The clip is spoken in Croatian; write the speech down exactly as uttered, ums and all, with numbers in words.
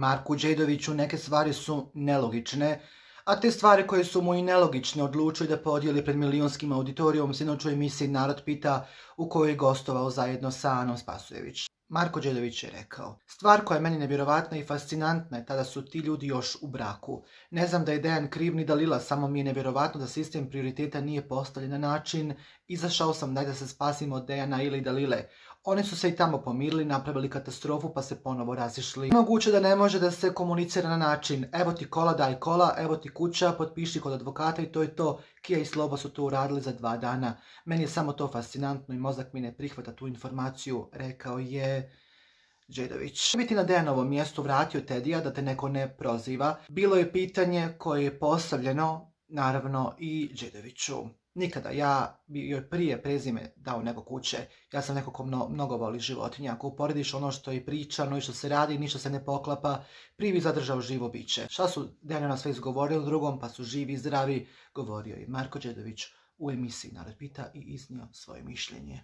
Marku Đedoviću neke stvari su nelogične, a te stvari koje su mu i nelogične odlučili da podijeli pred milionskim auditorijom sinoć u emisiji Narod pita u kojoj je gostovao zajedno sa Anom Spasojević. Marko Đedović je rekao: stvar koja je meni nevjerovatna i fascinantna je tada su ti ljudi još u braku. Ne znam da je Dejan kriv ni Dalila, samo mi je nevjerovatno da sistem prioriteta nije postavljen na način izašao sam daj da se spasim od Dejana ili Dalile. Oni su se i tamo pomirili, napravili katastrofu pa se ponovo razišli. Moguće da ne može da se komunicira na način evo ti kola, daj kola, evo ti kuća, potpiši kod advokata i to je to. Kija i Slobo su to uradili za dva dana. Meni je samo to fascinantno i mozak mi ne prihvata tu informaciju, rekao je Đedović. Biti na Dejanovom mjestu vratio Tedija da te neko ne proziva. Bilo je pitanje koje je postavljeno, naravno, i Đedoviću. Nikada, ja bi joj prije prezime dao nego kuće. Ja sam neko ko mno, mnogo voli životinja. Ako uporediš ono što je pričano i što se radi, ništa se ne poklapa, prije bi zadržao živo biće. Šta su Dejanova sve izgovorili u drugom, pa su živi i zdravi, govorio je Marko Đedović u emisiji Narod pita i iznio svoje mišljenje.